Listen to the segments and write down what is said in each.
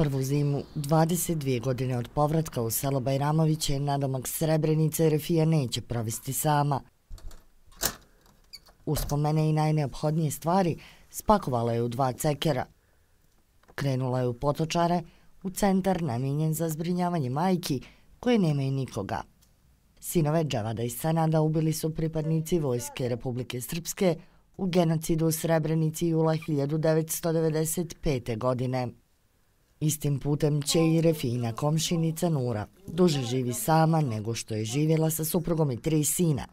Prvu zimu, 22 godine od povratka u selo Bajramoviće, nadomak Srebrenice Refija neće provesti sama. Uspomene i najneophodnije stvari spakovala je u 2 cekera. Krenula je u Potočare, u centar namijenjen za zbrinjavanje majki koje nemaju nikoga. Sinove Dževada i Senada ubili su pripadnici Vojske Republike Srpske u genocidu u Srebrenici jula 1995. godine. Istim putem će i Refina komšinica Nura. Duže živi sama nego što je živjela sa suprugom i 3 sina.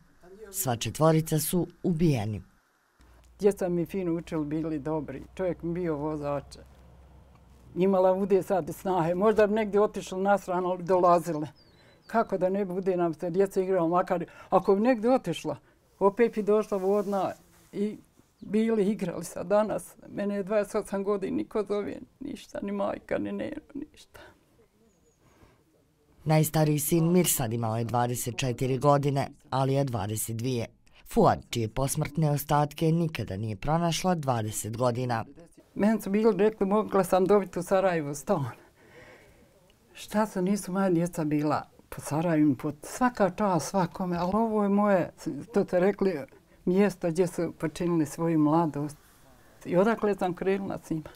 Sva 4 su ubijeni. Djeca mi fino učili, bili dobri. Čovjek mi bio vozač. Imala bude sad snahe. Možda bi negdje otišla na stranu, ali dolazile. Kako da ne bude nam se djeca igrala, makar ako bi negdje otišla, opet bi došla vodna i bili igrali sad danas. Mene je 28 godina, niko zove ništa, ni majka, ni neno, ništa. Najstariji sin Mirsad imao je 24 godine, ali je 22. Fuad, čije posmrtne ostatke nikada nije pronašla, 20 godina. Meni su bili rekli, mogla sam dobiti u Sarajevu stan. Šta su, nisu moja djeca bila po Sarajevu, svaka čast svakome, ali ovo je moje, to ste rekli, mjesto gdje su počinili svoju mladost. I odakle sam krenula s njima.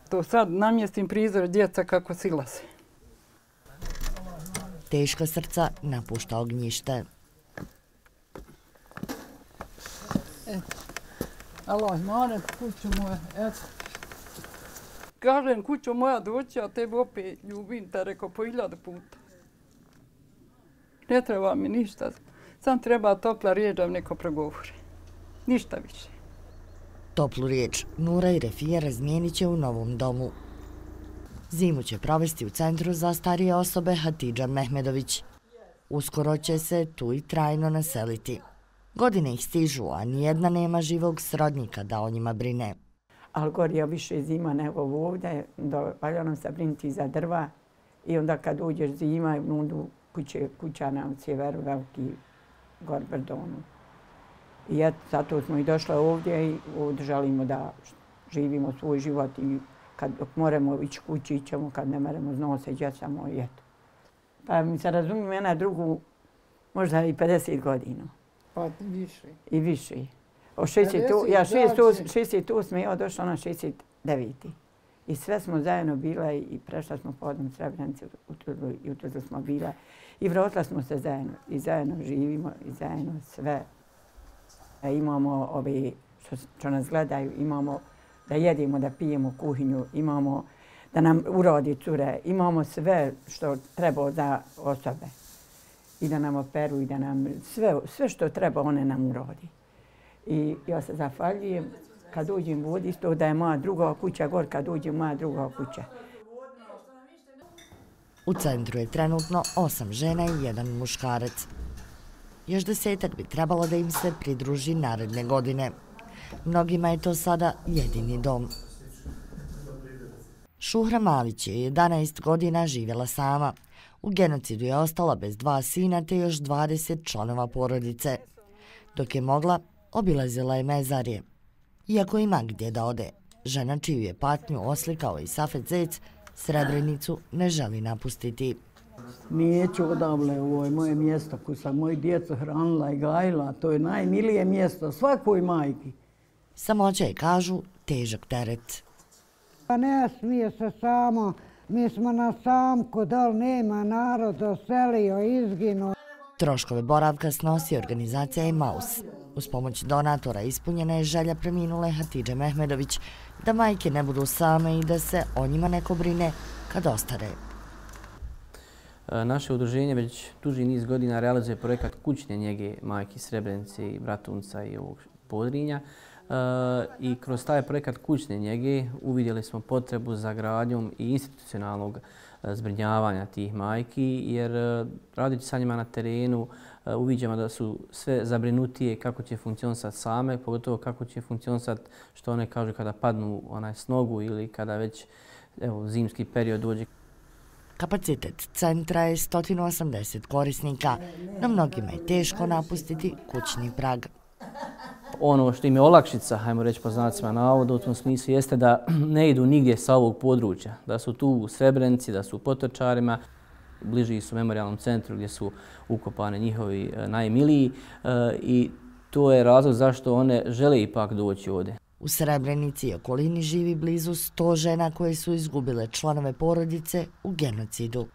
To sad namjestim prizor djeca kako silaze. Teška srca napušta ognjište. Allah, mane, kuću moja, eto. Kažem, kuću moja doći, a tebi opet ljubim te, rekao, po 1000 puta. Ne treba mi ništa, sam treba topla riječ da neko progovori. Ništa više. Toplu riječ Nura i Refija razmijenit će u novom domu. Zimu će provesti u centru za starije osobe Hatidža Mehmedović. Uskoro će se tu i trajno naseliti. Godine ih stižu, a nijedna nema živog srodnika da o njima brine. Ali gori je više zima nego ovdje, valja nam se brinuti za drva i onda kad uđeš zima, kuća na sjeveru, veliki gor Brdonu. I eto, zato smo i došli ovdje i želimo da živimo svoj život i kad moramo ići kući, ićemo, kad ne moramo znose, djecamo i eto. Pa mi se razumijem, jedna drugu možda i 50 godina. Pa više. I više. Ja 68. ja došla na 69. I sve smo zajedno bile i prešla smo podom Srebrenice, i u Tuzlu smo bile. I vratila smo se zajedno. I zajedno živimo i zajedno sve. Imamo ovi što nas gledaju, imamo da jedemo, da pijemo kuhinju, imamo da nam urodi cure, imamo sve što treba za osobe. I da nam operu i da nam sve što treba one nam urodi. I ja se zahvaljujem kad uđem u vodi, isto da je moja druga kuća gor, kad uđem moja druga kuća. U centru je trenutno 8 žena i 1 muškarac. Još 10-ak bi trebalo da im se pridruži naredne godine. Mnogima je to sada jedini dom. Šuhra Malić je 11 godina živjela sama. U genocidu je ostala bez 2 sina te još 20 članova porodice. Dok je mogla, obilazila je mezarje. Iako ima gdje da ode, žena čiju je patnju oslikao i Safet Zec, Srebrenicu ne želi napustiti. Neću odavle, ovo je moje mjesto koje sam moju djecu hranila i gajila. To je najmilije mjesto svakoj majki. Samoća je, kažu, težak teret. Pa ne smije se samo, mi smo na samku, da li nema narod, oselio, izginuo. Troškove boravka snosi organizacija Emaus. Uz pomoć donatora ispunjena je želja preminule Hatidže Mehmedović da majke ne budu same i da se o njima neko brine kad ostare. Naše udruženje već duži niz godina realizuje projekat kućne njege majki Srebrenice i Bratunca i ovog Podrinja. I kroz taj projekat kućne njege uvidjeli smo potrebu za gradnjom i institucionalnog zbrinjavanja tih majki, jer radeći sa njima na terenu uviđamo da su sve zabrinutije kako će funkcionisati same, pogotovo kako će funkcionisati, što one kažu, kada padnu s nogu ili kada već zimski period dođe. Kapacitet centra je 180 korisnika, no mnogima je teško napustiti kućni prag. ono što im je olakšica, hajmo reći po znacima navoda u tom smislu, jeste da ne idu nigdje sa ovog područja, da su tu u Srebrenici, da su u Potočarima, bliži su memorijalnom centru gdje su ukopane njihovi najmiliji i to je razlog zašto one žele ipak doći ovdje. U Srebrenici i okolini živi blizu 100 žena koje su izgubile članove porodice u genocidu.